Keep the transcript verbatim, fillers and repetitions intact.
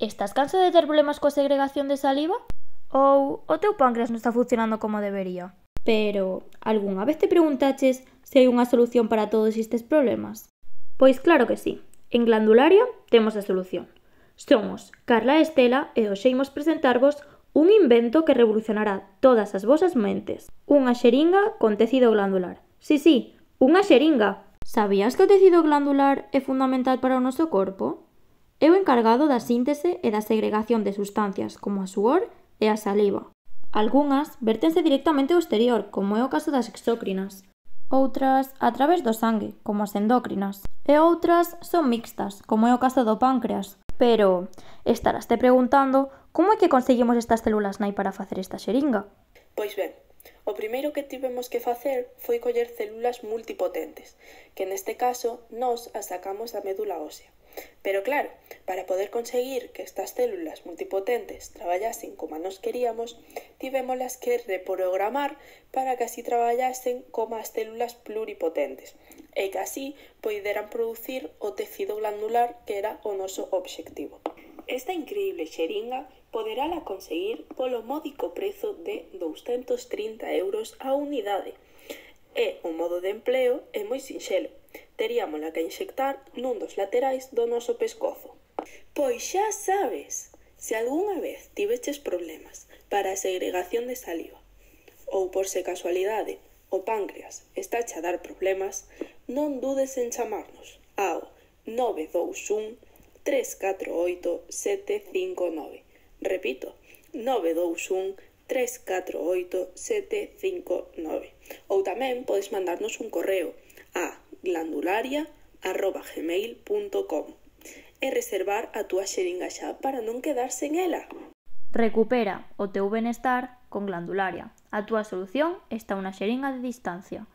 Estás cansado de ter problemas coa segregación de saliva? Ou o teu páncreas non está funcionando como debería? Pero, algunha vez te preguntaches se hai unha solución para todos estes problemas? Pois claro que sí. En Glandularia temos a solución. Somos Carla e Estela e hoxe imos presentarvos un invento que revolucionará todas as vosas mentes. Unha xeringa con tecido glandular. Sí, sí, unha xeringa. Sabías que o tecido glandular é fundamental para o noso corpo? É o encargado da síntese e da segregación de sustancias como a suor e a saliva. Algunhas vértense directamente ao exterior, como é o caso das exócrinas. Outras a través do sangue, como as endócrinas. E outras son mixtas, como é o caso do páncreas. Pero estarás te preguntando como é que conseguimos estas células nai para facer esta xeringa? Pois ben, o primeiro que tivemos que facer foi coller células multipotentes, que neste caso nós as sacamos da médula ósea. Pero claro, para poder conseguir que estas células multipotentes traballasen como nos queríamos, tivémolas que reprogramar para que así traballasen como as células pluripotentes e que así poideran producir o tecido glandular que era o noso obxectivo. Esta increíble xeringa poderala conseguir polo módico prezo de douscentos trinta euros a unidade. E o modo de empleo é moi sinxelo. Teríamola que inxectar nun dos laterais do noso pescozo. Pois xa sabes, se algunha vez tiveches problemas para a segregación de saliva ou por se casualidade o páncreas está a dar problemas, non dudes en chamarnos ao nove dous un, tres catro oito, sete cinco nove. Repito, nove dous un, tres catro oito, sete cinco nove. Ou tamén podes mandarnos un correo a glandularia arroba gmail punto com e reservar a túa xeringa xa para non quedar sen ela. Recupera o teu benestar con Glandularia. A túa solución está unha xeringa de distancia.